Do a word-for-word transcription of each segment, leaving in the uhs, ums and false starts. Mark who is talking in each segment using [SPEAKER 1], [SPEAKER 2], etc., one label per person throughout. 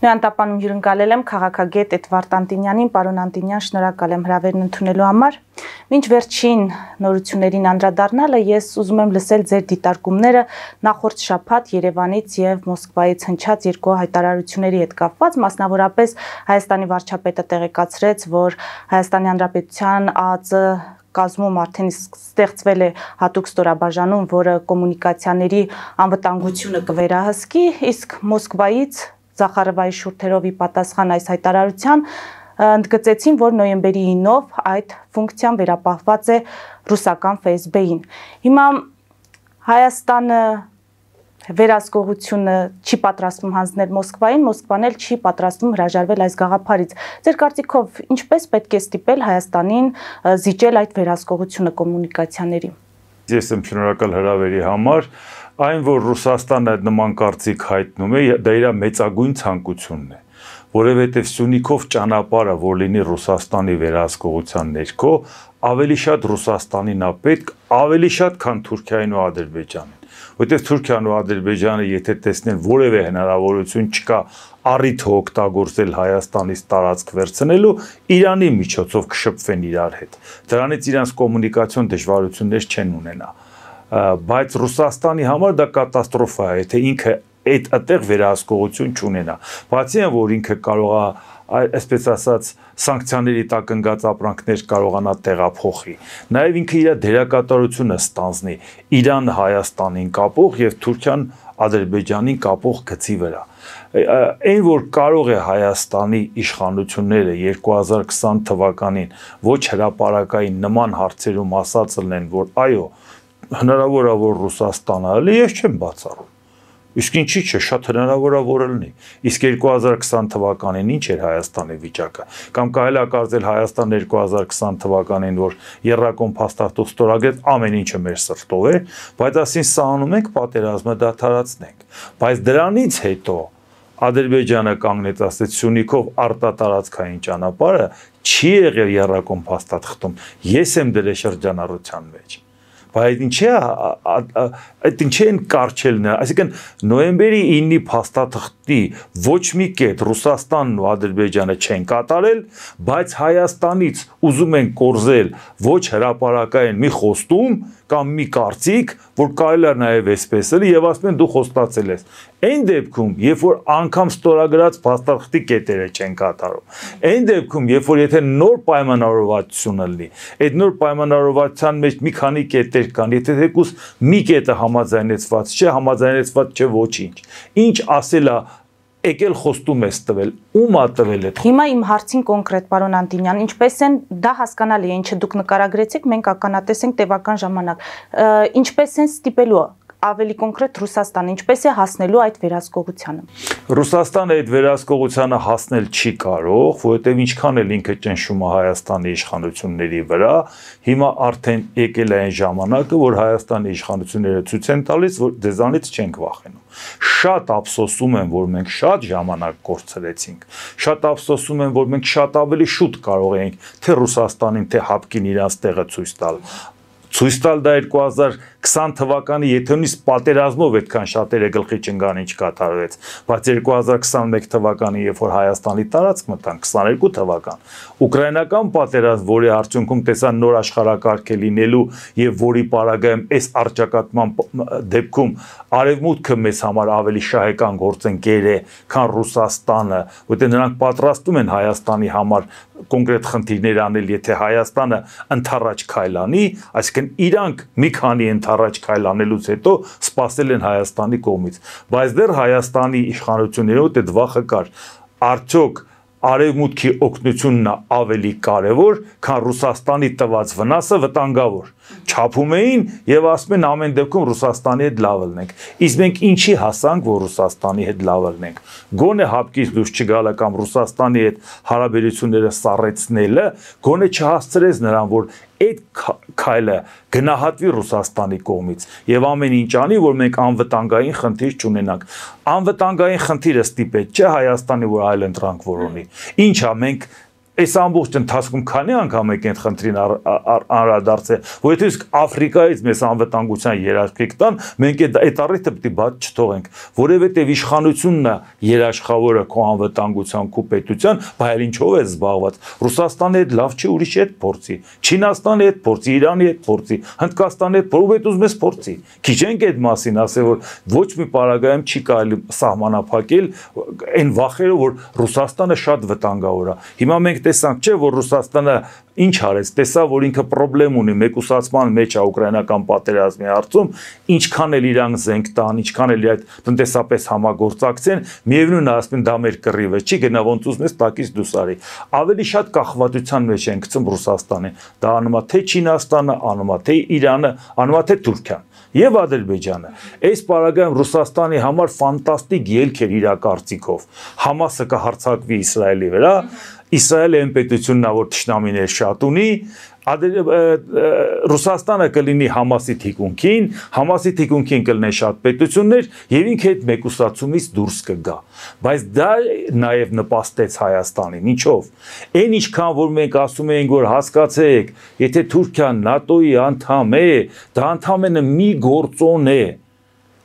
[SPEAKER 1] Նույն տապանում հյուրընկալել եմ քաղաքագետ Էդվարդ Անտինյանին, պարոն Անտինյան, շնորհակալ եմ հրավերն ընդունելու համար։ Մինչ վերջին նորություններին անդրադառնալը ես ուզում եմ լսել ձեր դիտարկումները նախորդ շաբաթ Երևանից եւ Մոսկվայից հնչած երկու հայտարարությունների հետ կապված, մասնավորապես Հայաստանի վարչապետը տեղեկացրեց, որ Հայաստանի Հանրապետության ԱԱԾ կազմում արդեն ստեղծվել է հատուկ ստորաբաժանում, որը կոմունիկացիաների անվտանգությունը կվերահսկի, իսկ Մոսկվայից Զախարովայի շուրթերովի պատասխան այս հայտարարության ընդգծեցին, որ նոյեմբերի ինով այդ ֆունկցիան վերապահված է ռուսական Ֆ S B-ին։ Հիմա Հայաստանը վերահսկողությունը չի պատրաստվում հանձնել Մոսկվային, Մոսկվան էլ չի պատրաստվում հրաժարվել այս գաղափարից։ Ձեր կարծիքով ինչպես պետք է ստիպել Հայաստանին զիջել այդ վերահսկողությունը կոմունիկացիաների։
[SPEAKER 2] Ես եմ շնորհակալ հրավերի համար, այն որ Ռուսաստանը նման կարծիք հայտնում է, դա իր մեծագույն ցանկությունն է, որովհետև Սյունիքով ճանապարհը, որ լինի Ռուսաստանի վերահսկողության ներքո, ավելի շատ Ռուսաստանին է պետք, ավելի շատ, քան Թուրքիային ու Ադրբեջանին։ Որտեղ Թուրքիան ու Ադրբեջանը եթե տեսնեն որևէ հնարավորություն չկա առիթ օգտագործել Հայաստանից տարածք վերցնելու, Իրանի միջոցով կշփվեն իրար հետ։ Դրանից իրանց կոմունիկացիոն դժվարություններ չեն ունենա։ Բայց Ռուսաստանի համար դա կատաստրոֆա է, եթե ինքը այդ այդտեղ վերահսկողություն չունենա։ Բացի այն, որ ինքը կարող է, այսպես ասած, սանկցիաների տակ ընկած ապրանքներ կարողանա տեղափոխի։ Նաև ինքը իր դերակատարությունը ստանձնի Իրան Հայաստանին կապող եւ Թուրքիան Ադրբեջանին կապող գծի վրա։ Այն որ կարող է Հայաստանի իշխանությունները երկու հազար քսան թվականին ոչ հրապարակային նման հարցերում ասած լինեն, որ այո, հնարավոր է որ Ռուսաստանը ալի, ես չեմ բացառում։ Իսկ ինչի՞ չէ, շատ հնարավոր է որ լինի։ Իսկ երկու հազար քսան թվականին ինչ էր Հայաստանի վիճակը։ Կամ կարելի է կարծել Հայաստան երկու հազար քսան թվականին, որ Եռակոմ փաստաթուղթ ստորագրեց, ամեն ինչը մեր սրտով էր, բայց ասին սահանում ենք պատերազմը դադարեցնենք։ Բայց դրանից հետո Ադրբեջանը կանգնեց, ասեց Սյունիքով արտատարածքային ճանապարհը չի եղել Եռակոմ փաստաթղթում։ Ես եմ դրել շրջանառության մեջ։ Բայց ինչ է, այդ ինչ են կարճել նա, այսինքն նոյեմբերի ինի փաստաթղթի ոչ մի կետ Ռուսաստանն ու Ադրբեջանը չեն կատարել, բայց Հայաստանից ուզում են կորզել ոչ հրապարակային մի խոստում կամ մի կարծիք, որ կարելի է նաև այսպես էլի եւ ասում են դու խոստացել ես։ Այն դեպքում, երբ որ անգամ ստորագրած փաստաթղթի կետերը չեն կատարում, այն դեպքում, երբ որ եթե նոր պայմանավորվածություն լինի, այդ նոր պայմանավորվածության մեջ մի քանի կետեր կան, եթե թեկուզ մի կետը համաձայնեցված չէ, համաձայնեցված չէ ոչինչ։ Ինչ ասել է եկել խոստում ես տվել, ում է տվել այդ։
[SPEAKER 1] Հիմա իմ հարցին կոնկրետ պարոն Անտինյան, ինչպես են դա հասկանալի է, ինչը դուք նկարագրեցիք, մենք ականատես ենք տևական ժամանակ։ Ինչպես են ստիպելու ավելի կոնկրետ Ռուսաստանը, ինչպես է հասնելու այդ վերահսկողությանը։
[SPEAKER 2] Ռուսաստանը այդ վերահսկողությանը հասնել չի կարող, որովհետև ինչքան էլ ինքը ճնշում է Հայաստանի իշխանությունների վրա, հիմա արդեն եկել է այն ժամանակը, որ Հայաստանի իշխանությունները ցույց են տալիս, որ դեզանից չենք վախենում։ Շատ ափսոսում եմ, որ մենք շատ ժամանակ կորցրեցինք։ Շատ ափսոսում եմ, որ մենք շատ ավելի շուտ կարող էինք թե Ռուսաստանին, թե Հապկին իրենց տեղը ցույց տալ։ Ցույց տալ դա երկու հազար քսան թվականի եթե նույնիսկ պատերազմով այդքան շատերը գլխի չընկան ինչ կատարվեց, բայց երկու հազար քսանմեկ թվականի երբ որ Հայաստանի տարածք մտան քսաներկու թվական, ուկրաինական պատերազմ, որի արդյունքում տեսան նոր աշխարհակարգ է լինելու եւ որի պարագայում այս արճակատման դեպքում արևմուտքը մեզ համար ավելի շահեկան գործընկեր է, քան Ռուսաստանը, որտեղ նրանք պատրաստում են Հայաստանի համար կոնկրետ խնդիրներ անել, եթե Հայաստանը ընդառաջ քայլ անի, այսինքն իրանք մի քանի առաջ քայլ անելուց հետո սպասել են Հայաստանի կողմից, բայց դեռ Հայաստանի իշխանություններով այդ վախը կար, արդյոք արևմուտքի օգնությունն է ավելի կարևոր, քան Ռուսաստանի տված վնասը վտանգավոր։ Չափում էին եւ ասում են ամեն դեպքում Ռուսաստանի հետ լավ լինենք։ Իսկ մենք ինչի հասանք, որ Ռուսաստանի հետ լավ լինենք։ Գոնե հապկից դուրս չգալը կամ Ռուսաստանի հետ հարաբերությունները սառեցնելը, գոնե չհասցրեց նրան, որ այդ քայլը գնահատվի Ռուսաստանի կողմից եւ ամեն ինչ անի, որ մենք անվտանգային խնդիր չունենանք։ Անվտանգային խնդիրը ստիպեց չէ Հայաստանի, որ այլ ընտրանք որոնի։ Ինչա մենք այս ամբողջ ընթացքում քանի անգամ եք այդ խնդրին անդրադարձել, որ եթե իսկ Աֆրիկայից մեզ անվտանգության երաշխիք տան, մենք այդ առիթը պետք է բաց չթողենք, որովհետև իշխանությունն է երաշխավորը քո անվտանգության, քո պետության, բայց ինչով է զբաղված։ Ռուսաստանի հետ լավ չի, ուրիշի հետ փորձի, Չինաստանի հետ փորձի, Իրանի հետ փորձի, Հնդկաստանի հետ փորձի, ուզում ես փորձի։ Քիչ ենք այդ մասին ասել, որ ոչ մի պարագայում չի կարելի սահմանափակել այն վախերը, որ Ռուսաստանը շատ վտանգավոր է։ Հիմա մենք տեսանք, չէ, որ Ռուսաստանը ինչ արեց, տեսա, որ ինքը խնդրեմ ունի մեկուսացման մեջ է ուկրաինական պատերազմի հարցում, ինչքան էլ իրանք զենք տան, ինչքան էլ այդ տնտեսապես համագործակցեն, միևնույն է ասում դա մեր կռիվը չի, գնա ոնց ուզում ես տակից դուրս արի։ Ավելի շատ կախվածության մեջ են գցում Ռուսաստանը։ Դա անում է թե Չինաստանը, անում է թե Իրանը, անում է թե Թուրքիան եւ Ադրբեջանը։ Այս պարագայում Ռուսաստանի համար ֆանտաստիկ ելք էր իր կարծիքով։ Համասը կհարձակվի Իսրայելի վրա, Իսրայելը այն պետությունն է, որ թշնամիներ շատ ունի, Ռուսաստանը կլինի Համասի թիկունքին, Համասի թիկունքին կլինեն շատ պետություններ եւ ինքը այդ մեկուսացումից դուրս կգա։ Բայց դա նաեւ նպաստեց Հայաստանին, ինչով։ Այն ինչքան որ մենք ասում ենք, որ հասկացեք, եթե Թուրքիան ՆԱՏՕ-ի անդամ է, դա ընդամենը մի գործոն է։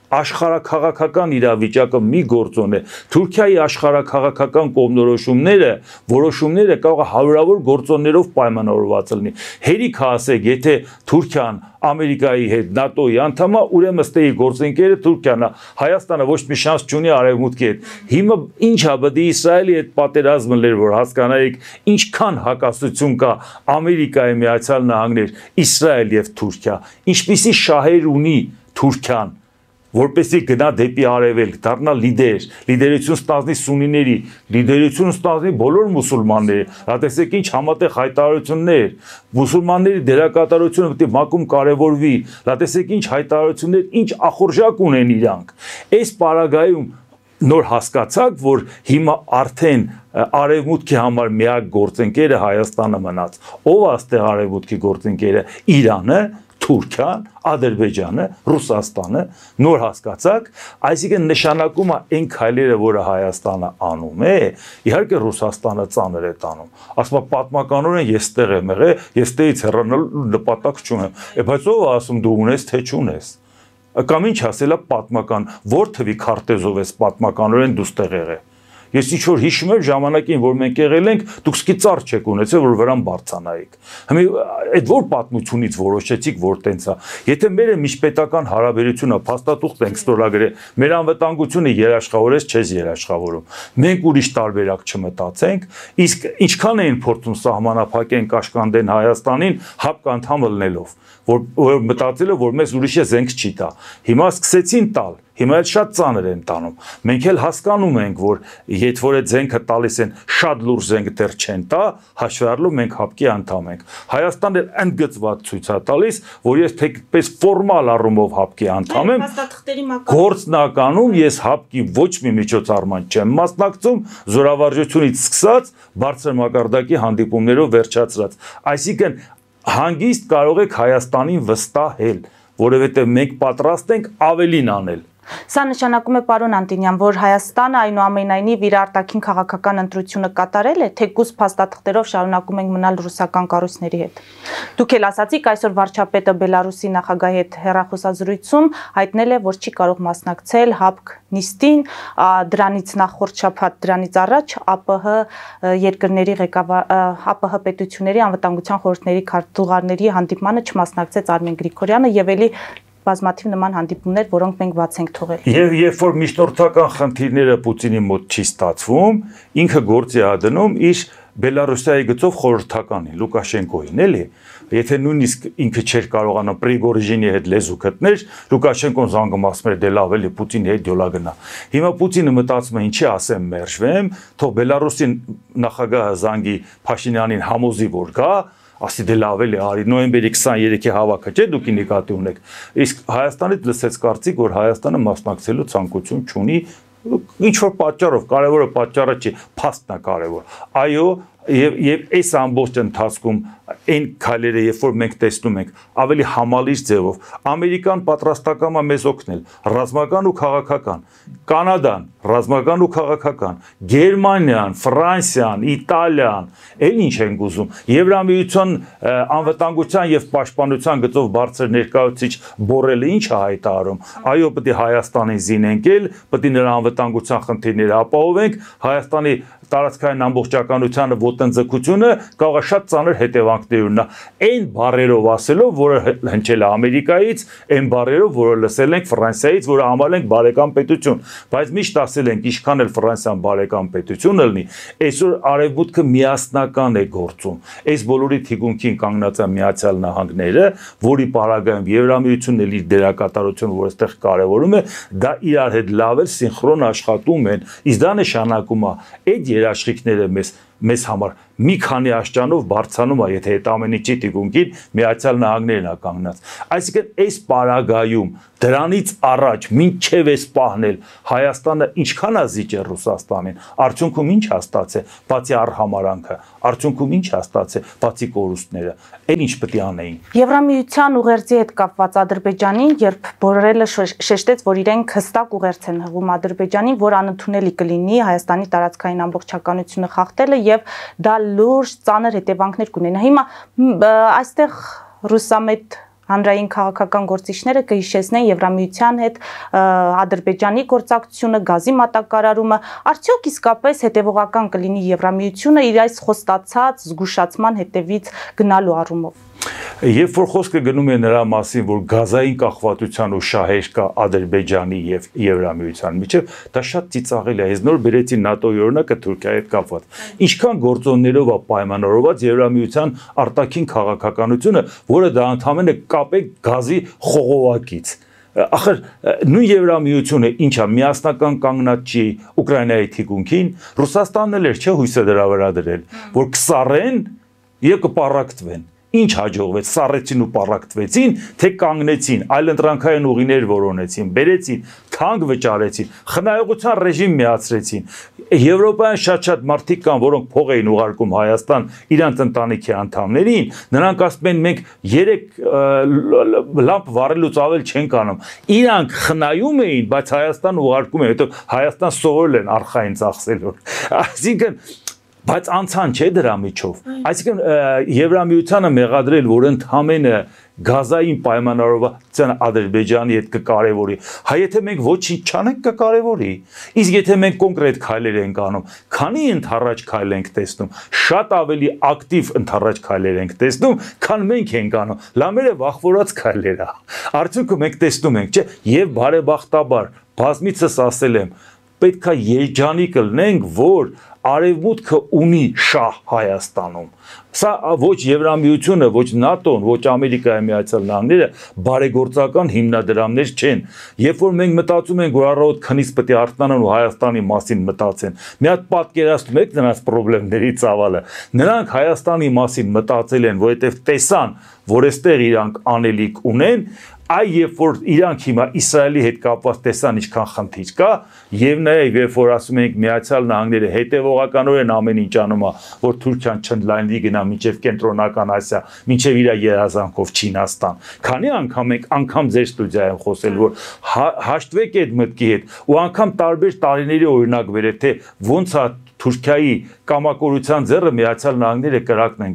[SPEAKER 2] Աշխարհաքաղաքական իրավիճակը մի գործոն է։ Թուրքիայի աշխարհաքաղաքական կողմնորոշումները, որոշումները կարող է հարյուրավոր գործոններով պայմանավորված լինի։ Հերիք ասեք, եթե Թուրքիան Ամերիկայի հետ ՆԱՏՕ-ի անդամ է, ուրեմն ըստ էի գործընկերը Թուրքիան է։ Հայաստանը ոչ մի շանս չունի արևմուտքի հետ։ Հիմա ինչ է բդի Իսրայելի հետ պատերազմը լեր, որ հասկանայիք, ինչքան հակասություն կա Ամերիկայի Միացյալ Նահանգներ, Իսրայել եւ Թուրքիա, ինչպիսի շահեր ունի Թուրքիան, որպեսզի գնա դեպի արևելք, դառնա լիդեր, լիդերություն ստանձնի սունիների, լիդերություն ստանձնի բոլոր մուսուլմանների։ Դա տեսեք ինչ համատեղ հայտարարություններ, մուսուլմանների դերակատարությունը պետք է մակում կարևորվի։ Դա տեսեք ինչ հայտարարություններ, ինչ ախորժակ ունեն իրանք։ Այս պարագայում նոր հասկացաք, որ հիմա արդեն արևմուտքի համար միակ գործընկերը Հայաստանը մնաց։ Ով է այստեղ արևմուտքի գործընկերը։ Իրանը, Թուրքիան, Ադրբեջանը, Ռուսաստանը, նոր հասկացաք, այսինքն նշանակում է այն քայլերը, որը Հայաստանը անում է, իհարկե Ռուսաստանը ծանր է տանում։ Ասում է պատմականորեն ես ստեղ եմ եղել, ես ստեղից հեռանալու նպատակ չունեմ։ Բայց ով է ասում դու ունես, թե չունես։ Կամ ինչ ասելա պատմական, որ թվի քարտեզով ես պատմականորեն դու ստեղ եղել։ Ես ինչ որ հիշում եմ ժամանակին, որ մենք եղել ենք, դուք սկի ծառ չեք ունեցել, որ վրան բարձանայիք։ Հիմա այդ որ պատմությունից որոշեցիք, որ տենց է։ Եթե մեր միջպետական հարաբերությունը փաստաթուղթ ենք ստորագրել, մեր անվտանգությունը երաշխավորես, չես երաշխավորում։ Մենք ուրիշ տարբերակ չմտածենք, իսկ ինչքան էին փորձում սահմանափակեն կաշկանդեն Հայաստանին հապկ անդամ ելնելով, որ, որ մտածելը, որ մեզ ուրիշը զենք չի տա։ Հիմա սկսեցին տալ։ Հիմա էլ շատ ծանր են տանում։ Մենք էլ հասկանում ենք, որ եթե որ այդ զենքը տալիս են, շատ լուրջ զենք դեռ չեն տա, հաշվառելով մենք հապկի անդամ ենք։ Հայաստանն էլ ընդգծված ցույց է տալիս, որ ես թեկպես ֆորմալ առումով հապկի անդամ եմ, գործնականում ես հապկի ոչ մի միջոցառման չեմ մասնակցում, զորավարժությունից սկսած բարձր մակարդակի հանդիպումներով վերջացրած։ Այսինքն հանգիստ կարող եք Հայաստանին վստահել, որովհետև մենք պատրաստ ենք ավելին անել։
[SPEAKER 1] Սա նշանակում է, պարոն Անտոնյան, որ Հայաստանը այնուամենայնիվ իր արտաքին քաղաքական ընտրությունը կատարել է, թեկուզ փաստաթղթերով շարունակում ենք մնալ ռուսական կառույցների հետ։ Դուք էլ ասացիք, այսօր վարչապետը Բելարուսի նախագահի հետ հեռախոսազրույցում հայտնել է, որ չի կարող մասնակցել հապկ նիստին, դրանից նախորդ շաբաթ, դրանից առաջ ԱՊՀ երկրների ղեկավար ԱՊՀ պետությունների անվտանգության խորհուրդների քարտուղարների հանդիպմանը չմասնակցեց Արմեն Գրիգորյանը եւ էլի բազմաթիվ նման հանդիպումներ, որոնք մենք բաց ենք թողել։
[SPEAKER 2] Եվ երբ որ միջնորդական խնդիրները Պուտինի մոտ չի ստացվում, ինքը գործի է դնում իր Բելարուսիայի գծով խորհրդականին, Լուկաշենկոին, էլի։ Եթե նույնիսկ ինքը չէր կարողանա Պրիգոժինի հետ լեզու գտնել, Լուկաշենկոն զանգում ասում էր դե լավ էլի Պուտինի հետ յոլա գնա։ Հիմա Պուտինը մտածում է ինչի ասեմ մերժվեմ, թող Բելարուսի նախագահը զանգի Փաշինյանին համոզի որ գա, ասի դե լավ էլի արի նոյեմբերի քսաներեքի հավաքը չէ դուք նկատի ունեք իսկ Հայաստանից լսեց կարծիք որ Հայաստանը մասնակցելու ցանկություն չունի ինչ որ պատճառով կարևորը պատճառը չի փաստն է կարևոր այո եւ եւ այս ամբողջ ընթացքում այն քայլերը, երբ որ մենք տեսնում ենք ավելի համալիր ձևով, Ամերիկան պատրաստական է մեզ օգնել, ռազմական ու քաղաքական, Կանադան, ռազմական ու քաղաքական, Գերմանիան, Ֆրանսիան, Իտալիան, էլ ինչ են ուզում, Եվրամիության անվտանգության եւ պաշտպանության գծով բարձր ներկայացուցիչ Բորելը ինչ է հայտարարում, այո, պետք է Հայաստանին զինենք, պետք է նրա անվտանգության խնդիրները ապահովենք, Հայաստանի տարածքային ամբողջականությանը ոտնձգությունը կարող է շատ ծանր հետևանքներ ունենա։ Այն բառերով ասելով, որը հնչել է Ամերիկայից, այն բառերով, որը լսել ենք Ֆրանսիայից, որը համարել ենք բարեկամ պետություն, բայց միշտ ասել ենք, ինչքան էլ Ֆրանսիան բարեկամ պետություն լինի, այսօր արևմուտքը միասնական է գործում։ Այս բոլորի թիկունքին կանգնած է Միացյալ Նահանգները, որի պարագայում Եվրամիությունն էլ իր դերակատարությունը, որ այստեղ կարևորում է, դա իրար հետ լավ էլ սինխրոն աշխատում են, իսկ դա նշանակում է այդ երաշխիքները մեզ մեզ համար մի քանի աշճանով բարձանում է, եթե այդ ամեն ինչի թիկունքին Միացյալ Նահանգներն է կանգնած։ Այսինքն այս պարագայում դրանից առաջ մինչև էս պահնել Հայաստանը ինչքան է զիջել Ռուսաստանին, արդյունքում ինչ է ստացել, բացի արհամարանքը, արդյունքում ինչ է ստացել, բացի կորուստները, այն ինչ պետք է անեին։
[SPEAKER 1] Եվրամիության ուղերձի հետ կապված Ադրբեջանին, երբ Բորելը շեշտեց, որ իրենք հստակ ուղերձ են հղում Ադրբեջանին, որ անընդունելի կլինի Հայաստանի տարածքային ամբողջականությունը խախտելը եւ դա լուրջ ծանր հետևանքներ կունենա։ Հիմա այստեղ ռուսամետ հանրային քաղաքական գործիչները կհիշեցնեն Եվրամիության հետ Ադրբեջանի գործակցությունը, գազի մատակարարումը, արդյոք իսկապես հետևողական կլինի Եվրամիությունը իր այս խոստացած զգուշացման հետևից գնալու առումով։
[SPEAKER 2] Երբ որ խոսքը գնում է նրա մասին, որ գազային կախվածության ու շահեր կա Ադրբեջանի եւ Եվրամիության միջեւ, դա շատ ծիծաղելի է։ Ես նոր բերեցի ՆԱՏՕ-ի օրինակը Թուրքիայի հետ կապված։ Ինչքան գործոններով է պայմանավորված Եվրամիության արտաքին քաղաքականությունը, որը դա ընդհանրապես կապ է գազի խողովակից։ Ախր նույն Եվրամիությունը ինչա միասնական կանգնած չի Ուկրաինայի թիկունքին, Ռուսաստանն էլ էր չէ հույսը դրա վրա դրել, որ կսառեն եւ կպարակտվեն։ Ինչ հաջողվեց, սառեցին ու պարակտվեցին, թե կանգնեցին, այլընտրանքային ուղիներ որոնեցին, բերեցին, թանկ վճարեցին, խնայողության ռեժիմ միացրեցին։ Եվրոպայում շատ-շատ մարդիկ կան, որոնք փող էին ուղարկում Հայաստան իրանց ընտանիքի անդամներին, նրանք ասում են մենք երեք լամպ վառելուց ավել չենք անում։ Իրանք խնայում էին, բայց Հայաստան ուղարկում են, հետո Հայաստան սովորել են արխային ծախսելու։ Այսինքն բայց անցան չէ դրա միջով։ Այսինքն Եվրամիությանը մեղադրել, որ ընդհանրապես գազային պայմանավորվածության Ադրբեջանի հետ կկարևորի, հա եթե մենք ոչինչ չանենք կկարևորի։ Իսկ եթե մենք կոնկրետ քայլեր ենք անում, քանի ընդառաջ քայլ ենք տեսնում, շատ ավելի ակտիվ ընդառաջ քայլեր ենք տեսնում, քան մենք ենք անում։ Լամերը վախվորած քայլեր է։ Արդյունքում մենք տեսնում ենք, չէ, եւ բարեբախտաբար բազմիցս ասել եմ, պետք է երջանիկ լինենք, որ Արևմուտքը ունի շահ Հայաստանում։ Սա ոչ Եվրամիությունը, ոչ ՆԱՏՕ-ն, ոչ Ամերիկայի Միացյալ Նահանգները բարեգործական հիմնադրամներ չեն։ Երբ որ մենք մտածում ենք, որ առավոտ քնից պետք է արթնանան ու Հայաստանի մասին մտածեն, մի հատ պատկերացնում եք նրանց խնդիրների ծավալը։ Նրանք Հայաստանի մասին մտածել են, որովհետև տեսան, որ այստեղ իրանք անելիք ունեն, այ երբ որ իրանք հիմա Իսրայելի հետ կապված տեսան ինչքան խնդիր կա, եւ նաեւ երբ որ ասում ենք Միացյալ Նահանգները հետեւողականորեն ամեն ինչ անում է, որ Թուրքիան չընդլայնվի գնա մինչեւ կենտրոնական Ասիա, մինչեւ իր երազանքով Չինաստան։ Քանի անգամ ենք անգամ ձեր ստուդիայում խոսել, որ հաշտվեք այդ մտքի հետ ու անգամ տարբեր տարիների օրինակ վերեք, թե ոնց է Թուրքիայի կամակորության ձեռը Միացյալ Նահանգները կրակն են։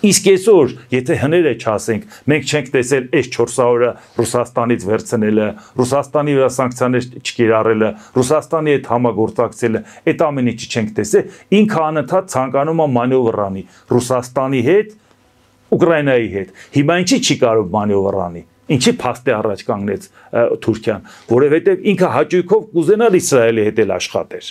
[SPEAKER 2] Իսկ այսօր, եթե հները չասենք, մենք չենք տեսել այս չորս օրը Ռուսաստանից վերցնելը, Ռուսաստանի վրա սանկցիաներ չկիրառելը, Ռուսաստանի հետ համագործակցելը, այդ ամեն ինչը չենք տեսել, ինքը անընդհատ ցանկանում է մանևր անի Ռուսաստանի հետ, Ուկրաինայի հետ։ Հիմա ինչի չի կարող մանևր անի։ Ինչի փաստի առաջ կանգնեց Թուրքիան, որովհետև ինքը հաճույքով կուզենալ Իսրայելի հետ էլ աշխատեր։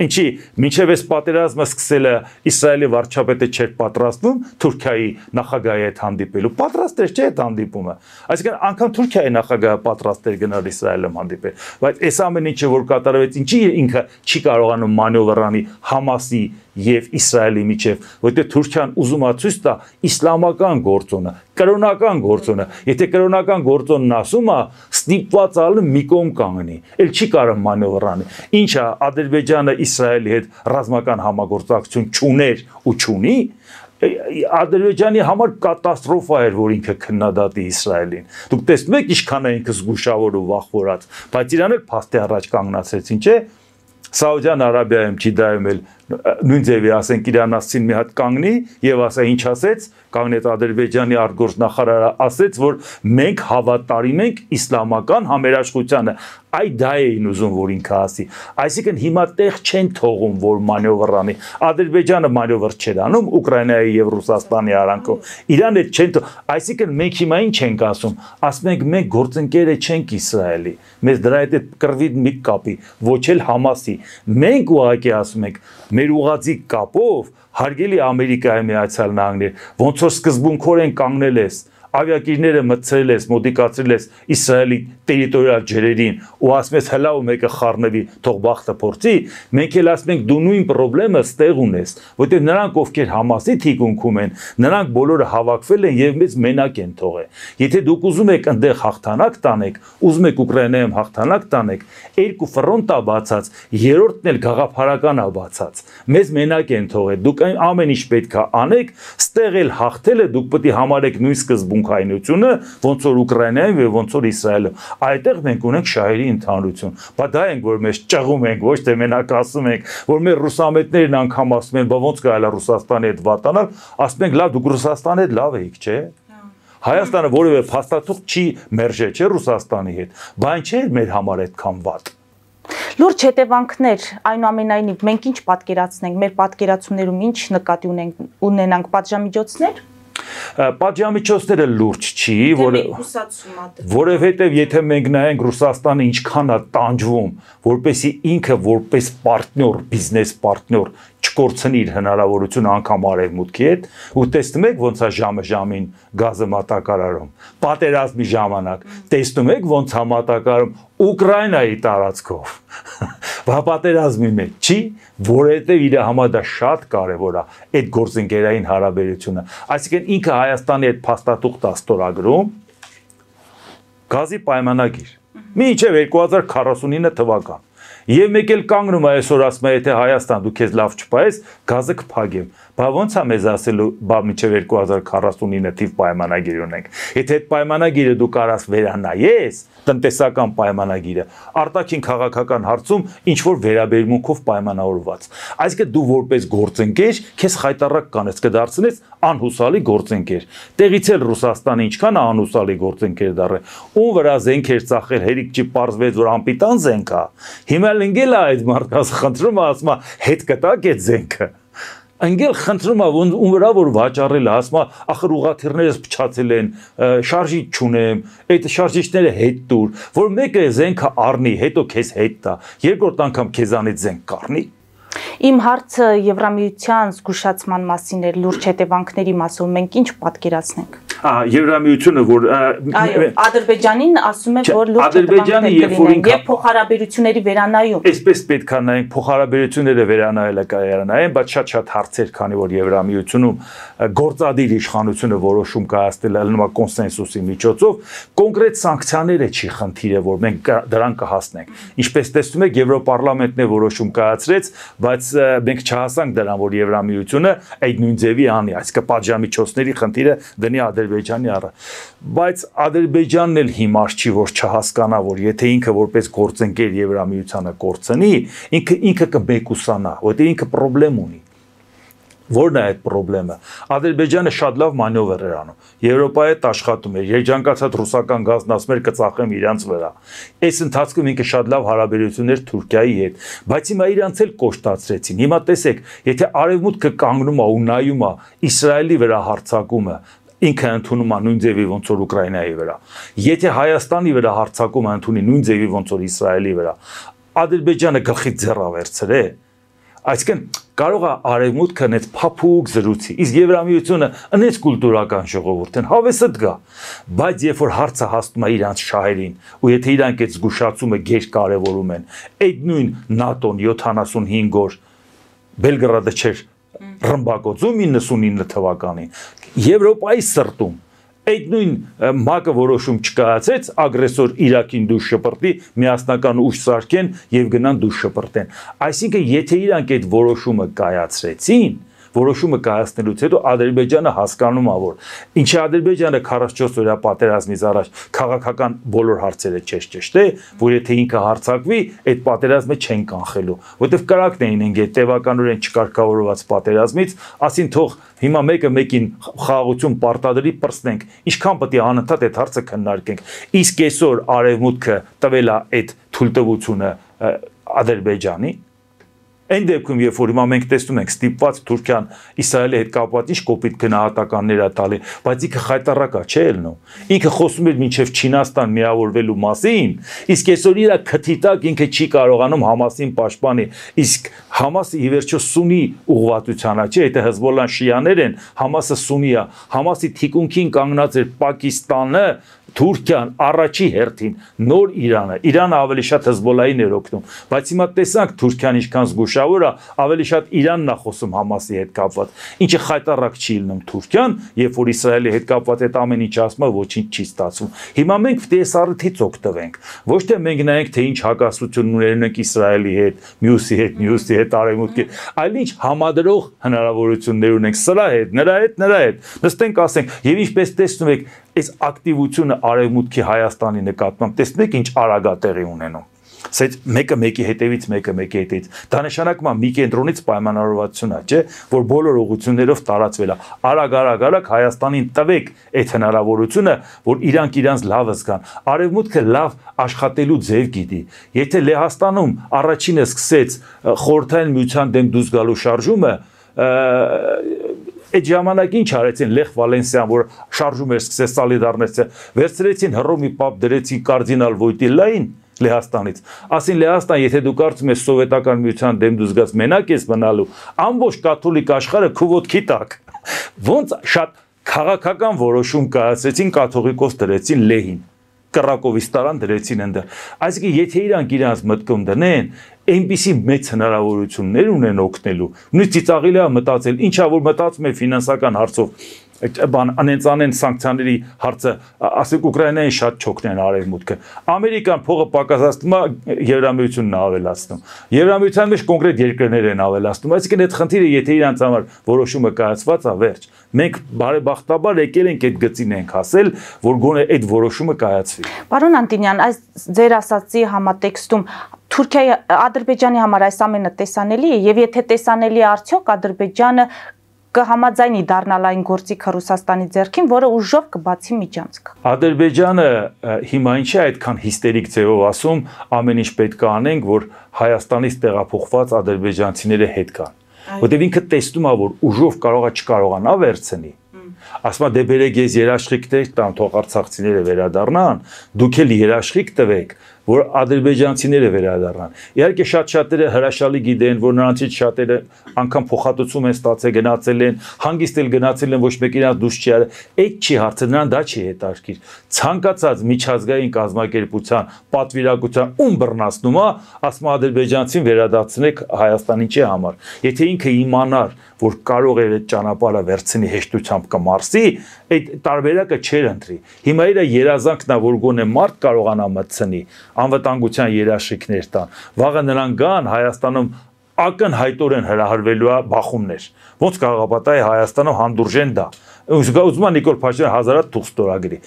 [SPEAKER 2] Ինչի մինչև այս պատերազմը սկսելը Իսրայելի վարչապետը չէր պատրաստվում Թուրքիայի նախագահի հետ հանդիպելու, պատրաստ էր չէ այդ հանդիպումը։ Այսինքն անգամ Թուրքիայի նախագահը պատրաստ էր գնալ Իսրայելում հանդիպել, բայց այս ամեն ինչը որ կատարվեց, ինչի ինքը չի կարողանում մանևր անի Համասի եւ Իսրայելի միջև, որտեղ Թուրքիան ուզում է ցույց տա իսլամական գործոնը, կրոնական գործոնը, եթե կրոնական գործոնն ասում է, ստիպված ալը մի կողմ կանգնի, էլ չի կարող մանևր անի։ Ինչա Ադրբեջանը Իսրայելի հետ ռազմական համագործակցություն չուներ ու չունի, Ադրբեջանի համար կատաստրոֆա էր, որ ինքը քննադատի Իսրայելին։ Դուք տեսնում եք ինչքան է ինքը զգուշավոր ու վախվորած, բայց իրան էլ փաստի առաջ կանգնացրեցին, չէ՞։ Սաուդյան Արաբիայում Ջիդայում էլ նույն ձևի ասենք իրանացին մի հատ կանգնի եւ ասա ինչ ասեց, կանգնեց Ադրբեջանի արտգործնախարարը ասեց, որ մենք հավատարիմ ենք իսլամական համերաշխությանը, այ դա էին ուզում որ ինքը ասի, այսինքն հիմա տեղ չեն թողում որ մանևր անի, Ադրբեջանը մանևր չէր անում Ուկրաինայի եւ Ռուսաստանի արանքով, իրան էլ չեն, այսինքն մենք հիմա ինչ ենք ասում, ասում ենք մենք գործընկերը չենք Իսրայելի, մեզ դրա հետ կռվի մի կապի, ոչ էլ Համասի, մենք ուղղակի ասում ենք մեր ուղղածի կապով հարգելի Ամերիկայի Միացյալ Նահանգներ, ոնց որ սկզբունքորեն կանգնել ես, ավիակիրները մտցրել ես, մոդիկացրել ես Իսրայելի տերիտորիալ ջրերին ու ասում ես հլա ու մեկը խառնվի, թող բախտը փորձի, մենք էլ ասում ենք դու նույն խնդրեմը ստեղ ունես, որտեղ նրանք ովքեր Համասի թիկունքում են, նրանք բոլորը հավաքվել են եւ մեզ մենակ են թողել։ Եթե դուք ուզում եք այնտեղ հաղթանակ տանեք, ուզում եք Ուկրաինայում հաղթանակ տանեք, երկու ֆրոնտ է բացած, երրորդն էլ գաղափարական է բացած։ Մեզ մենակ են թողել, դուք ամեն ինչ պետք է անեք, ստեղ էլ հաղթելը դուք պետք է համարեք նույն սկզբունքայնությունը, ոնց որ Ուկրաինայում եւ ոնց որ Իսրայելում։ Այդտեղ մենք ունենք շահերի ընդհանրություն։ Բա դա ենք որ մեզ ճղում ենք, ոչ թե մենակ ասում ենք, որ մեր ռուսամետներն անգամ ասում են, բա ոնց կարելի է Ռուսաստանի հետ վատանալ, ասում ենք լավ դուք Ռուսաստանի հետ լավ եք, չէ՞։ Հայաստանը որևէ փաստաթուղթ չի մերժել, չէ՞ Ռուսաստանի հետ։ Բա ինչ է մեր համար այդքան վատ։
[SPEAKER 1] Լուրջ հետևանքներ, այնուամենայնիվ մենք ինչ պատկերացնենք, մեր պատկերացումներում ինչ նկատի ունենք, ունենանք պատժամիջոցներ։
[SPEAKER 2] Պատժամիջոցները լուրջ չի, որովհետև եթե մենք նայենք Ռուսաստանը ինչքան է տանջվում, որպեսզի ինքը որպես պարտներ, բիզնես պարտներ չկորցնի իր հնարավորությունը անգամ արևմուտքի հետ, ու տեսնում եք ոնց է ժամը ժամին գազը մատակարարում, պատերազմի ժամանակ, տեսնում եք ոնց է մատակարարում Ուկրաինայի տարածքով, բա պատերազմի մեջ չի, որովհետև իր համար դա շատ կարևոր է այդ գործընկերային հարաբերությունը, այսինքն ինքը Հայաստանի հետ փաստաթուղթ է ստորագրում, գազի պայմանագիր, մինչև երկու հազար քառասունինը թվական, եւ մեկ էլ կանգնում է այսօր ասում է եթե Հայաստան դու քեզ լավ չփայես, գազը կփակեմ, բա ոնց է մեզ ասելու, բա մինչև երկու հազար քառասունինը թիվ պայմանագիր ունենք, եթե այդ պայմանագիրը դու կարաս վերանայես, տնտեսական պայմանագիրը, արտաքին քաղաքական հարցում ինչ որ վերաբերմունքով պայմանավորված, այսինքն դու որպես գործընկեր քեզ խայտարակ կանես, կդարձնես անհուսալի գործընկեր, տեղից էլ Ռուսաստանը ինչքան է անհուսալի գործընկեր դառել, ում վրա զենքեր ծախել, հերիք չի պարզվեց որ անպիտան զենք է, հիմա ընկել է այդ մարդկանց խնդրում է ասում է հետ կտակ այդ զենքը, ընկել խնդրում է ում վրա որ վաճառել է, ասում է ախր ուղղաթիռներս փչացել են, շարժիչ չունեմ, այդ շարժիչները հետ տուր, որ մեկը զենքը առնի, հետո քեզ հետ տա, երկրորդ անգամ քեզանից զենք կառնի։
[SPEAKER 1] Իմ հարցը Եվրամիության զգուշացման մասին էր, լուրջ հետևանքների մասով մենք ինչ պատկերացնենք։
[SPEAKER 2] Եվրամիությունը որ
[SPEAKER 1] այո Ադրբեջանին ասում է որ լուրջ հետևանքներ կլինեն եւ փոխհարաբերությունների վերանայում։
[SPEAKER 2] Այսպես պետք է նայենք փոխհարաբերությունները վերանայելը կայանային, բայց շատ-շատ հարցեր, քանի որ Եվրամիությունում գործադիր իշխանությունը որոշում կայացնել է նույն կոնսենսուսի միջոցով, կոնկրետ սանկցիաները չի խնդիրը, որ մենք դրան կհասնենք։ Ինչպես տեսնում եք, Եվրոպարլամենտն է որոշում կայացրեց, բայց մենք չհասանք դրան, որ Եվրամիությունը այդ նույն ձևի անի, այսինքն պատժամիջոցների խնդիրը դնի Ադրբեջանի առը, բայց Ադրբեջանն էլ հիմար չի, որ չհասկանա, որ եթե ինքը որպես գործընկեր Եվրամիությանը կորցնի, ինքը ինքը կմեկուսանա, որտեղ ինքը խնդրեմ ունի։ Որն է այդ խնդրեմը։ Ադրբեջանը շատ լավ մանևր էր անում։ Եվրոպայի հետ աշխատում էր, երջանկացած ռուսական գազն ասում էր կծախեմ իրանց վրա։ Այս ընթացքում ինքը շատ լավ հարաբերություններ Թուրքիայի հետ, բայց հիմա իրանց էլ կոշտացրեցին։ Հիմա տեսեք, եթե արևմուտքը կանգնում է ու նայում է Իսրայելի վրա հարձակումը, ինքը ընդունում է նույն ձևի ոնց որ Ուկրաինայի վրա։ Եթե Հայաստանի վրա հարձակումը ընդունի նույն ձևի ոնց որ Իսրայելի վրա, Ադրբեջանը գլխից ձեռ ավերցրե։ Այսինքն կարող է արևմուտքը նենց փափուկ զրուցի, իսկ Եվրամիությունը ընեց կուլտուրական ժողովուրդ են, հավեսը դգա, բայց երբ որ հարցը հասնում է իրանց շահերին, ու եթե իրանք այդ զգուշացումը գեր կարևորում են, այդ նույն ՆԱՏՕ-ն յոթանասունհինգ օր Բելգրադը չէր ռմբակոծում իննսունինը թվականին, Եվրոպայի սրտում այդ նույն ՄԱԿ-ը որոշում չկայացրեց ագրեսոր Իրաքին դուրս շպրտի, միասնական ուժ սարքեն եւ գնան դուրս շպրտեն։ Այսինքն եթե իրանք այդ որոշումը կայացրեցին, որոշումը կայացնելուց հետո Ադրբեջանը հասկանում է, որ ինչի Ադրբեջանը քառասունչորս օրյա պատերազմից առաջ քաղաքական բոլոր հարցերը չէր ճշտե, որ եթե ինքը հարձակվի, այդ պատերազմը չեն կանխելու, որովհետև կրակն էին ընկել տևականորեն չկարգավորված պատերազմից, ասին թող հիմա մեկը մեկին խաղաղություն պարտադրի պրծնենք, ինչքան պետք է անընդհատ այդ հարցը քննարկենք, իսկ այսօր Արևմուտքը տվել է այդ թույլտվությունը Ադրբեջանի Այն դեպքում, երբ որ հիմա մենք տեսնում ենք ստիպված Թուրքիան Իսրայելի հետ կապված ինչ կոպիտ գնահատականներ է տալի, բայց ինքը խայտառակ է, չէ՞ ելնում։ Ինքը խոսում էր մինչև Չինաստան միավորվելու մասին, իսկ այսօր իր քթի տակ ինքը չի կարողանում Համասին պաշտպանի, իսկ Համասը ի վերջո սունի ուղղվածության է, չէ՞, եթե Հեզբոլլան շիաներ են, Համասը սունի է, Համասի թիկունքին կանգնած էր Պակիստանը, Թուրքիան առաջի հերթին նոր Իրանը, Իրանը ավելի շատ Հեզբոլլային էր օգնում, բայց հիմա տեսանք Թուրքիան ինչքան զգուշավոր է, ավելի շատ Իրանն է խոսում Համասի հետ կապված, ինչը խայտառակ չի լինում Թուրքիան, երբ որ Իսրայելի հետ կապված այդ ամեն ինչ ասում է, ոչինչ չի ստացվում։ Հիմա մենք պետք է այս առիթից օգտվենք, ոչ թե մենք նայենք թե ինչ հակասություններ ունենք Իսրայելի հետ, մյուսի հետ, մյուսի հետ, Արևմուտքի, այլ ինչ համադրող հնարավորություններ ունենք սրա հետ, նրա հետ, նրա հետ։ Նստենք ասենք, եւ ինչպես տեսնում եք, այս ակտիվությունը Արևմուտքի Հայաստանի նկատմամբ տեսնում եք ինչ արագ է տեղի ունենում։ Սա մեկը մեկի հետևից, մեկը մեկի հետևից։ Դա նշանակում է մի կենտրոնից պայմանավորվածություն է, չէ, որ բոլոր ուղղություններով տարածվել է։ Արագ, արագ, արագ Հայաստանին տվեք այդ հնարավորությունը, որ իրանք իրանց լավը զգան։ Արևմուտքը լավ աշխատելու ձև գիտի։ Եթե Լեհաստանում առաջինը սկսեց խորհրդային միության դեմ դուրս գալու շարժումը, Այդ ժամանակ ինչ արեցին Լեխ Վալենսիան, որ շարժում էր սկսեց սոլիդարնեցը, վերցրեցին հռոմի պապ դրեցին կարդինալ Վոյտիլային Լեհաստանից։ Ասին Լեհաստան, եթե դու կարծում ես սովետական միության դեմ դուրս գաս մենակ ես մնալու, ամբողջ կաթոլիկ աշխարհը քու ոտքի տակ։ Ոնց շատ քաղաքական որոշում կայացրեցին, կաթողիկոս դրեցին Լեհին։ Կռակովիստարան դրեցին ընդդեմ։ Այսինքն եթե իրանք իրանց մտքում դնեն, այնպիսի մեծ հնարավորություններ ունեն օգնելու։ Նույնիսկ ծիծաղելի է մտածել, ինչա որ մտածում է ֆինանսական հարցով, բան անենցանեն սանկցիաների հարցը, ասենք Ուկրաինային շատ չօգնեն Արևմուտքը։ Ամերիկան փողը պակասացնում է, Եվրամիությունն է ավելացնում։ Եվրամիության մեջ կոնկրետ երկրներ են ավելացնում։ Այսինքն այդ խնդիրը եթե իրանց համար որոշումը կայացված է, վերջ։ Մենք բարեբախտաբար եկել ենք այդ գծին ենք հասել, որ գոնե այդ որոշումը կայացվի։
[SPEAKER 1] Պարոն Անտոնյան, այս ձեր ասացի համատեքստում Թուրքիայի Ադրբեջանի համար այս ամենը տեսանելի է, եւ եթե տեսանելի է արդյոք Ադրբեջանը կհամաձայնի դառնալ այն գործիքը Ռուսաստանի ձեռքին, որը ուժով կբացի միջանցք։
[SPEAKER 2] Ադրբեջանը հիմա ինչ է այդքան հիստերիկ ձևով ասում, ամեն ինչ պետք է անենք, որ Հայաստանից տեղափոխված ադրբեջանցիները հետ գան։ Որտեւ ինքը տեսնում է, որ ուժով կարող է չկարողանա վերցնի։ Ասում է դե բերեք ես երաշխիք տամ, թող արցախցիները վերադառնան, դուք էլ երաշխիք տվեք, որ ադրբեջանցիները վերադառնան։ Իհարկե շատ-շատերը հրաշալի գիտեն, որ նրանցից շատերը անգամ փոխհատուցում են ստացել, գնացել են, հանգիստ էլ գնացել են, ոչ մեկ իրանց դուրս չի արել։ Այդ չի հարցը, նրան դա չի հետաքրքիր։ Ցանկացած միջազգային կազմակերպության պատվիրակության ում բռնացնում է, ասում է ադրբեջանցին վերադարձնեք Հայաստանի ինչի համար։ Եթե ինքը իմանար, որ կարող է այդ ճանապարհը վերցնի հեշտությամբ կմարսի, այդ տարբերակը չեր ընտրի։ Հիմա իր երազանքն է, որ գոնե մարդ կարողանա մտցնի, անվտանգության երաշխիքներ տան։ Վաղը նրանք գան Հայաստանում ակնհայտորեն հրահրվելու է բախումներ։ Ոնց կարող է պատահի Հայաստանում հանդուրժեն դա։ Ուզում է Նիկոլ Փաշինյանը հազարատ թուղթ ստորագրի։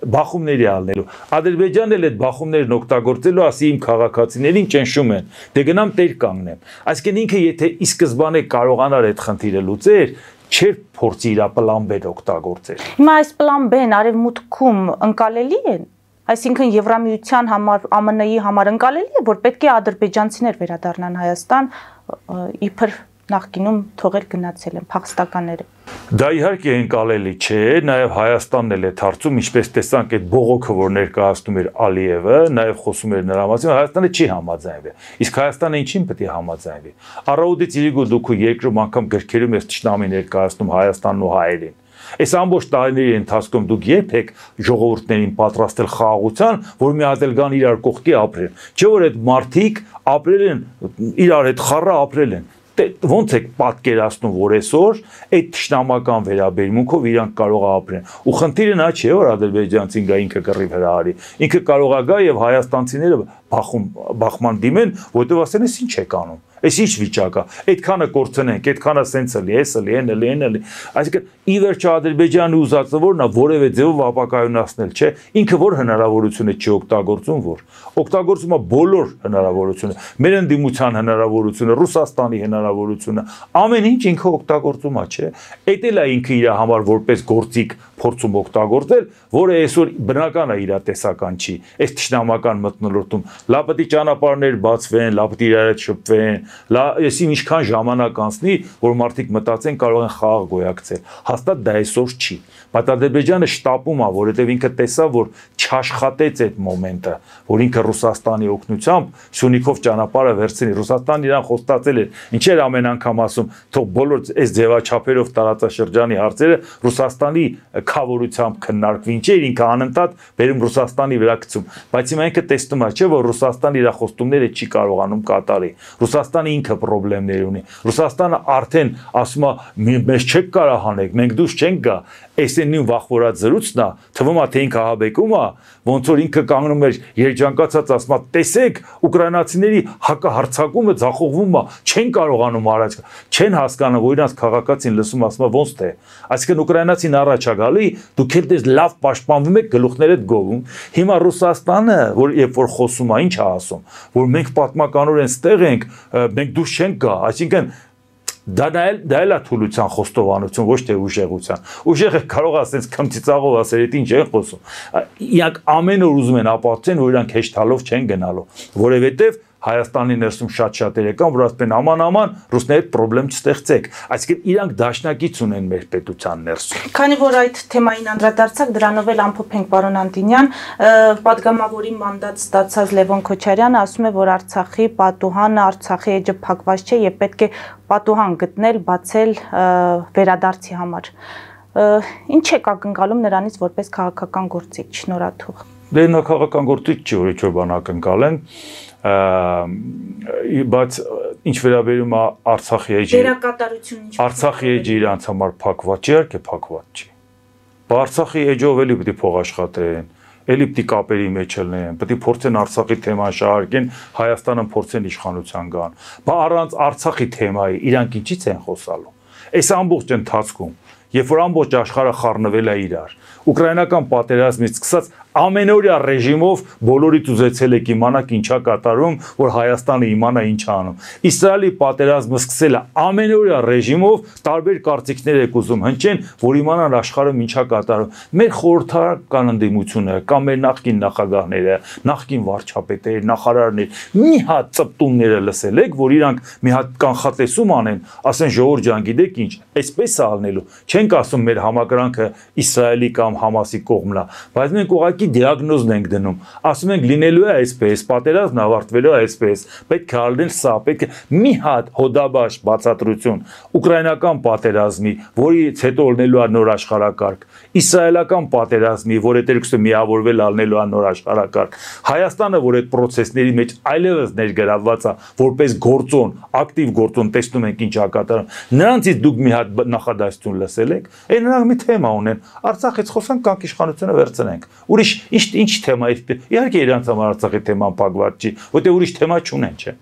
[SPEAKER 2] Բախումների ալնելու։ Ադրբեջանն էլ այդ բախումներն օգտագործելու ասի իմ քաղաքացիներին ճնշում են։ Դե գնամ տեր կանգնեմ։ Այսինքն ինքը եթե ի սկզբանե կարողանար այդ խնդիրը լուծեր, չէր փորձի իր պլան B օգտագործել։
[SPEAKER 1] Հիմա այս պլան B-ն Արևմուտքում ընկալելի է։ Այսինքն Եվրամիության համար, Ամն Ի համար ընկալելի է, որ պետք է ադրբեջանցիներ վերադառնան Հայաստան, իբր նախկինում թողել գնացել են փախստականները։
[SPEAKER 2] Դա իհարկե ընկալելի չէ, նաև Հայաստանն էլ է հարցում, ինչպես տեսանք այդ բողոքը, որ ներկայացնում էր Ալիևը, նաև խոսում էր նրա մասին, Հայաստանը չի համաձայնվել։ Իսկ Հայաստանը ինչին պետք է համաձայնվի։ Առավոտից իրիկու դուք երկրում անգամ գրքերում ես ճշնամի ներկայացնում Հայաստանն ու հայերին։ Այս ամբողջ տարիների ընթացքում դուք երբեք ժողովուրդներին պատրաստել խաղաղության, որ միացել գան իրար կողքի ապրեն։ Չէ՞ որ այդ մարդիկ ապրել են, իրար հետ խառը ապրել են։ Ոնց եք պատկերացնում, որ այսօր այդ ճշնամական վերաբերմունքով իրանք կարող է ապրեն։ Ու խնդիրը նա չէ, որ ադրբեջանցին գա ինքը կռիվ հրահարի։ Ինքը կարող է գա եւ հայաստանցիները բախում բախման դիմեն, որտեղ ասեն, ինչ եք անում։ Այս ինչ վիճակ է։ Այդքանը կորցնենք, այդքանը սենց էլի, էս էլի, այն էլի, այն էլի։ Այսինքն ի վերջո Ադրբեջանը ուզածը որն է, որևէ ձևով ապակայունացնել, չէ, ինքը որ հնարավորություն է չի օգտագործում, որ օգտագործում է բոլոր հնարավորությունը, մեր ընդդիմության հնարավորությունը, Ռուսաստանի հնարավորությունը, ամեն ինչ ինքը օգտագործում է, չէ։ Էդ էլ է ինքը իր համար որպես գործիք փորձում օգտագործել, որը այսօր բնական է իր տեսական չի։ Այս ճշնամական մթնոլորտում լա պետք է ճանապարհներ բացվեն, լա պետք է իրար հետ շփվեն, լա եսի ինչքան ժամանակ անցնի, որ մարդիկ մտածեն կարող են խաղ գոյակցել։ Հաստատ դա այսօր չի։ Բայց Ադրբեջանը շտապում է, որովհետև ինքը տեսավ, որ չաշխատեց այդ մոմենտը, որ ինքը Ռուսաստանի օգնությամբ Սյունիքով ճանապարհը վերցնի։ Ռուսաստանն իրան խոստացել էր, ինչեր ամեն անգամ ասում, թող բոլոր այս ձևաչափերով տարածաշրջանի հարցերը Ռուսաստանի քավորությամբ քննարկվի, ինչեր ինքը անընդհատ բերում Ռուսաստանի վրա գցում, բայց հիմա ինքը տեսնում է, չէ, որ Ռուսաստանը իր խոստումները չի կարողանում կատարի։ Ռուսաստանը ինքը խնդիրներ ունի։ Ռուսաստանը արդեն ասում է, մեզ չեք կարող հանեք, մենք դուրս չենք գա։ Այս է նույն վախվորած զրույցն է, թվում է թե ինքը ահաբեկում է, ոնց որ ինքը կանգնում էր երջանկացած ասում է, տեսեք, ուկրաինացիների հակահարձակումը ձախողվում է, չեն կարողանում առաջ, չեն հասկանում, որ իրանց քաղաքացին լսում ասում է ոնց թե։ Այսինքն ուկրաինացին առաջ է գալի, դուք էլ դες լավ պաշտպանվում եք, գլուխներդ գովում։ Հիմա Ռուսաստանը, որ երբ որ խոսում է, ինչ է ասում, որ մենք պատմականորեն ստեղ ենք, մենք դուրս չենք գա, այսինքն դա դա էլ է թուլության խոստովանություն, ոչ թե ուժեղության։ Ուժեղը կարող է ասենց քմծիծաղով ասել, դա ինչ են խոսում։ Իրանք ամեն օր ուզում են ապացուցեն, որ իրանք հեշտալով չեն գնալու, որովհետև Հայաստանի ներսում շատ-շատեր եկան, որ ասեն աման-աման ռուսների հետ խնդրեմ չստեղծեք։ Այսինքն իրանք դաշնակից ունեն մեր պետության ներսում։
[SPEAKER 1] Քանի որ այդ թեմային անդրադարձակ, դրանով էլ ամփոփենք պարոն Անտինյան, պատգամավորի մանդատ ստացած Լևոն Քոչարյանը ասում է, որ Արցախի պատուհանը, Արցախի էջը փակված չէ եւ պետք է պատուհան գտնել, բացել վերադարձի համար։ Ինչ է ակնկալում նրանից որպես քաղաքական գործիչ, շնորհաթուղ։
[SPEAKER 2] Դե նա քաղաքական գործիչ չի, որ ինչ-որ բան ակնկալեն, բայց ինչ վերաբերում է Արցախի էջի, Արցախի էջի իրանց համար փակված չի, իհարկե փակված չի։ Արցախի էջով էլի պետք է փող աշխատեն, էլի պետք է կապերի մեջ լինեն, պետք է փորձեն Արցախի թեման շահարկեն, Հայաստանը փորձեն իշխանության գան։ Բա առանց Արցախի թեմայի իրանք ինչի՞ց են խոսալու։ Այս ամբողջ ընթացքում, երբ որ ամբողջ աշխարհը խառնվել է իրար, ուկրաինական պատերազմից սկսած ամենօրյա ռեժիմով բոլորից ուզեցել եք իմանաք ինչա կատարում, որ Հայաստանը իմանա ինչ անում։ Իսրայելի պատերազմը սկսել է ամենօրյա ռեժիմով տարբեր կարծիքներ եք ուզում հնչեն, որ իմանան աշխարհում ինչա կատարում։ Մեր խորհրդարական ընդդիմությունը կամ մեր նախկին նախագահները, նախկին վարչապետերը, նախարարներ մի հատ ծպտումները լսել եք, որ իրանք մի հատ կանխատեսում անեն, ասեն ժողովուրդ ջան, գիտեք ինչ, այսպես է ալնելու։ Չենք ասում մեր համակրանքը Իսրայելի կամ Համասի կողմն է, բայց մենք ուղղակի դիագնոզն ենք դնում, ասում ենք լինելու է այսպես, պատերազմն ավարտվելու է այսպես, պետք է ալնել սա, պետք է մի հատ հոդաբաş բացատրություն ուկրաինական պատերազմի, որից հետո ալնելու է նոր աշխարհակարգ, իսրայելական պատերազմի, որ հետերքսը միավորվել ալնելու է նոր աշխարհակարգ, Հայաստանը, որ այդ process-ների մեջ այլևս ներգրավված է, որպես գործոն, ակտիվ գործոն, տեսնում ենք ինչ ակատարում, նրանցից դուք մի հատ նախադասություն լսել եք, այն նրանք մի թեմա ունեն, Արցախից խոսանք, կանք իշխանությունը վերցնենք, ուրիշ ինչ ինչ թեմա է, իհարկե իրանց համար Արցախի թեման փակված չի, որտեղ ուրիշ թեմա չունեն, չէ։